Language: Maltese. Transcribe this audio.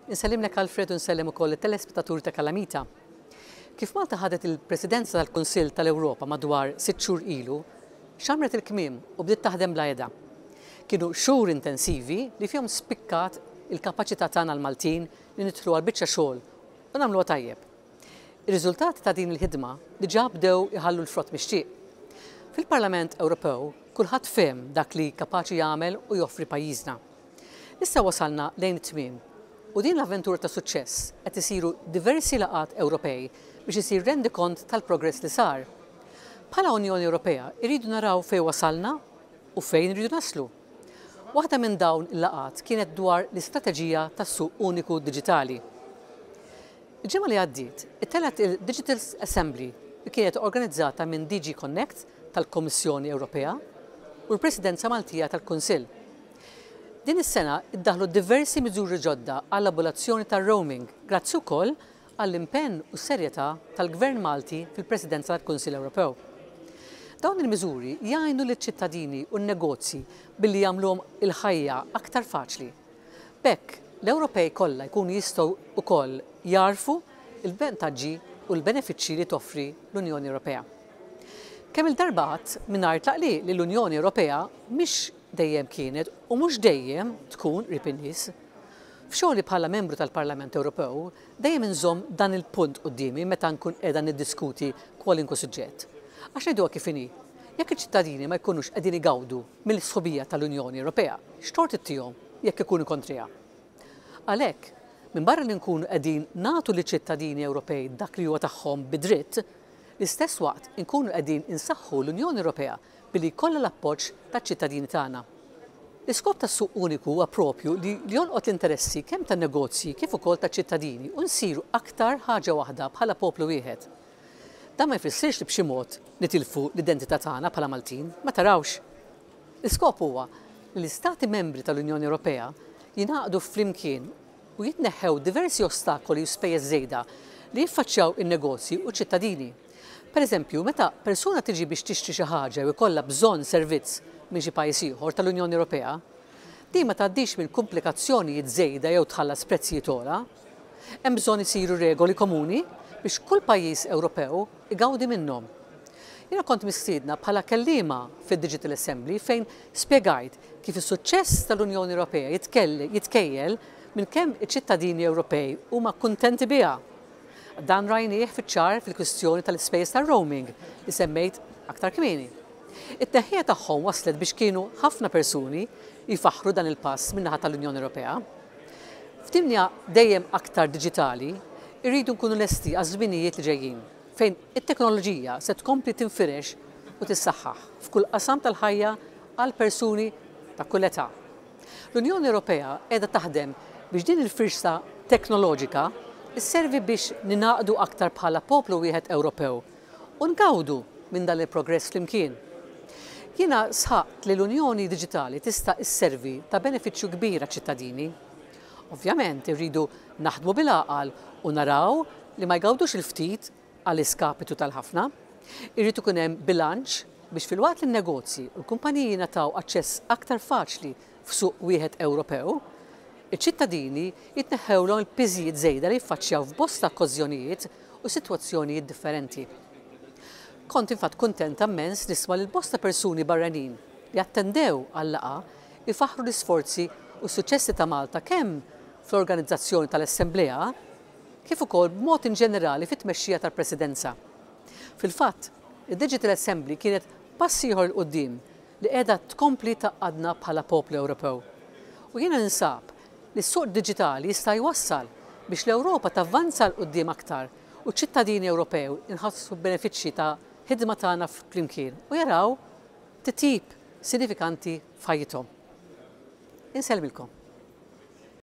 Insellimlek Alfred u nsellem ukoll it-telespettaturi ta' Kalamita. Kif Malta ħadet il-Presidenza tal-Kunsill tal-Ewropa madwar sitt xhur ilu, xammret il-kmiem u bdiet taħdem bla heda. Kienu xhur intensivi li fihom spikkat il-kapaċità tagħna l-Maltin li nidħlu għal biċċa xogħol u nagħmluha tajjeb. Ir-riżultati ta' din il-ħidma diġà bdew iħallu l-frott mixtieq. Fil-Parlament Ewropew kulħadd fehem dak li kapaċi jagħmel u joffri pajjiżna. Issa wasalna lejn it-tmiem u din l-avventura ta' suċċess qed isiru diversi laqgħat Ewropej biex isir rendikont tal-progress li sar. Bħala Unjoni Ewropea irridu naraw fejn wasalna u fejn irridu naslu. Waħda minn dawn il-laqgħat kienet dwar l-istrateġija tas-suq uniku diġitali. Il-ġimgħa li għaddiet ittellgħet il-Digital Assembly li kienet organizzata minn DG Connect tal-Kummissjoni Ewropea u l-Presidenza Maltija tal-Kunsill. Din is-sena ddaħħlu diversi miżuri ġodda għall-abolazzjoni tar-roaming grazzi wkoll għall-impenn u s-serjetà tal-Gvern Malti fil-Presidenza tal-Kunsill Ewropew. Dawn il-miżuri jgħinu liċ-ċittadini u n-negozji billi jagħmluhom il-ħajja aktar faċli. B'hekk, l-Ewropej kollha jkunu jistgħu wkoll jagħrfu l-vantaġġi u l-benefiċċji li toffri l-Unjoni Ewropea. Kemm-il darba għadt mingħajr tlaqliq li l-Unjoni Ewropea mhix dejjem kienet u mhux dejjem tkun qrib in-nies. F'xogħli bħala membru tal-Parlament Ewropew dejjem inżomm dan il-punt quddiemi meta nkun qiegħda niddiskuti kwalinkwe suġġett. Għax ngħiduha kif inhi, jekk iċ-ċittadini ma jkunux qegħdin igawdu mill-sħubija tal-Unjoni Ewropea, x'tort ittihom jekk ikunu kontriha? Għalhekk, minbarra li nkunu qegħdin nagħtu liċ-ċittadini Ewropej dak li huwa tagħhom bi dritt, l-istess waqt inkunu qegħdin insaħħu l-Unjoni Ewropea billi jkollha l-appoġġ taċ-ċittadini tagħna. L-iskop tas-suq uniku huwa proprju li jolqot l-interessi kemm tan-negozji kif ukoll taċ-ċittadini u nsiru aktar ħaġa waħda bħala poplu wieħed. Dan ma jfissirx li b'xi mod nitilfu l-identità tagħna bħala Maltin, ma tarawx! L-iskop huwa li l-Istati Membri tal-Unjoni Ewropea jingħaqdu flimkien u jitneħħew diversi ostakoli u spejjeż żejda li jiffaċċjaw in-negozji u ċ-ċittadini. Pereżempju, meta persuna tiġi biex tixtri xi ħaġa jew ikollha bżonn servizz minn xi pajjiż ieħor tal-Unjoni Ewropea, din ma tgħaddix minn kumplikazzjonijiet żejda jew tħallas prezzijiet ogħla. Hemm bżonn isiru regoli komuni biex kull pajjiż Ewropew igawdi minnhom. Jiena kont mistiedna bħala kelliema fid-Digital Assembly fejn spjegajt kif is-suċċess tal-Unjoni Ewropea jitkejjel minn kemm iċ-ċittadini Ewropej huma kuntenti biha. Dan rajnieh fiċ-ċar fil-kwistjoni tal-ispejjeż tar-roaming li semmejt aktar kmieni. It-tneħħija tagħhom wasslet biex kienu ħafna persuni jfaħħru dan il-pass min-naħa tal-Unjoni Ewropea. F'dinja dejjem aktar diġitali, irridu nkunu lesti għaż-żminijiet li ġejjin, fejn it-teknoloġija se tkompli tinfirex u tissaħħaħ f'kull qasam tal-ħajja għal persuni ta' kull età. L-Unjoni Ewropea qiegħda taħdem biex din il-firxa teknoloġika sservi biex ningħaqdu aktar bħala poplu wieħed Ewropew u ngawdu minn dan il-progress flimkien. Jiena sħaqt li l-Unjoni Diġitali tista' sservi ta' benefiċċju kbir għaċ-ċittadini. Ovvjament irridu naħdmu bil-għaqal u naraw li ma jgawdux il-ftit għall-iskapitu tal-ħafna. Irid ikun hemm bilanċ biex filwaqt li n-negozji u l-kumpaniji jingħataw aċċess aktar faċli f'suq wieħed Ewropew, iċ-ċittadini jitneħħewlhom il-piżijiet żejda li jiffaċċjaw f'bosta okkażjonijiet u sitwazzjonijiet differenti. Kont infatt kuntenta mmens nisma' lil bosta persuni barranin li attendew għal-laqgħa jfaħħru l-isforzi u s-suċċessi ta' Malta kemm fl-organizzazzjoni tal-Assemblea kif ukoll b'mod inġenerali fit-tmexxija tal-Presidenza. Fil-fatt, id-Digital Assembly kienet pass ieħor 'il quddiem li qiegħda tkompli tgħaqqadna bħala poplu Ewropew. U jiena ninsab li s-suq diġitali jista' jwassal biex l-Ewropa tavvanza 'l quddiem aktar u ċ-ċittadini Ewropew inħassu l-benefiċċji ta' ħidma tagħna flimkien u jaraw titjib sinifikanti f'ħajjithom. Insellmilkom.